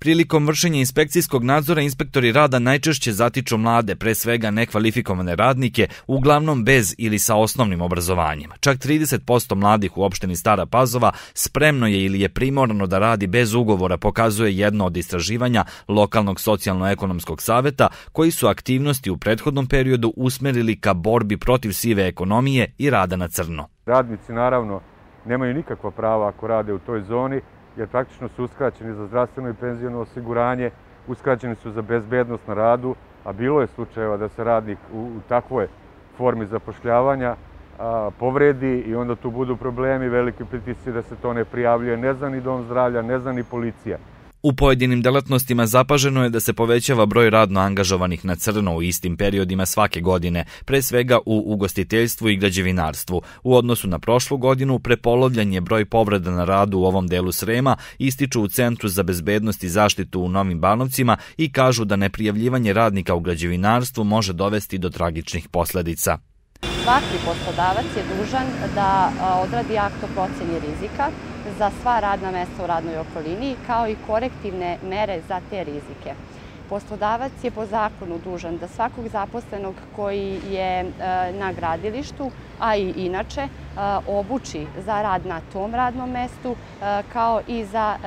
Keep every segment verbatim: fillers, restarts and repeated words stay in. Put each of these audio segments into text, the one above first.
Prilikom vršenja inspekcijskog nadzora inspektori rada najčešće zatiču mlade, pre svega nekvalifikovane radnike, uglavnom bez ili sa osnovnim obrazovanjem. Čak trideset posto mladih u opštini Stara Pazova spremno je ili je primorano da radi bez ugovora, pokazuje jedno od istraživanja lokalnog socijalno-ekonomskog saveta, koji su aktivnosti u prethodnom periodu usmerili ka borbi protiv sive ekonomije i rada na crno. Radnici naravno nemaju nikakva prava ako rade u toj zoni, jer praktično su uskraćeni za zdravstveno i penziono osiguranje, uskraćeni su za bezbednost na radu, a bilo je slučajeva da se radnik u, u takvoj formi zapošljavanja a, povredi i onda tu budu problemi, veliki pritisci da se to ne prijavljuje, ne zna ni dom zdravlja, ne zna ni policija. U pojedinim delatnostima zapaženo je da se povećava broj radno angažovanih na crno u istim periodima svake godine, pre svega u ugostiteljstvu i građevinarstvu. U odnosu na prošlu godinu, prepolovljan je broj povreda na radu u ovom delu Srema, ističu u Centru za bezbednost i zaštitu u Novim Banovcima i kažu da neprijavljivanje radnika u građevinarstvu može dovesti do tragičnih posledica. Svaki poslodavac je dužan da odradi akt o proceni rizika za sva radna mesta u radnoj okolini, kao i korektivne mere za te rizike. Poslodavac je po zakonu dužan da svakog zaposlenog koji je na gradilištu, a i inače, obuči za rad na tom radnom mestu, kao i za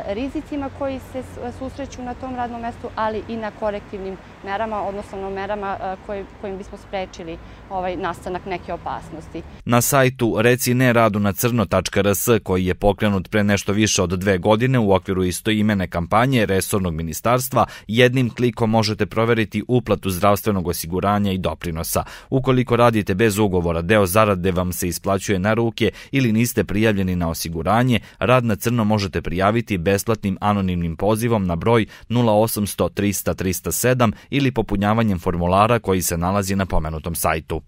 rizicima koji se susreću na tom radnom mestu, ali i na korektivnim merama, odnosno merama kojim bismo sprečili ovaj nastanak neke opasnosti. Na sajtu reci ne radu na crno tačka r s, koji je pokrenut pre nešto više od dve godine u okviru istoimene kampanje resornog ministarstva, jednim klikom možete proveriti uplatu zdravstvenog osiguranja i doprinosa. Ukoliko radite bez ugovora, deo zarade vam se isplaćuje na ruke ili niste prijavljeni na osiguranje, rad na crno možete prijaviti besplatnim anonimnim pozivom na broj nula osamsto trista trista sedam ili popunjavanjem formulara koji se nalazi na pomenutom sajtu.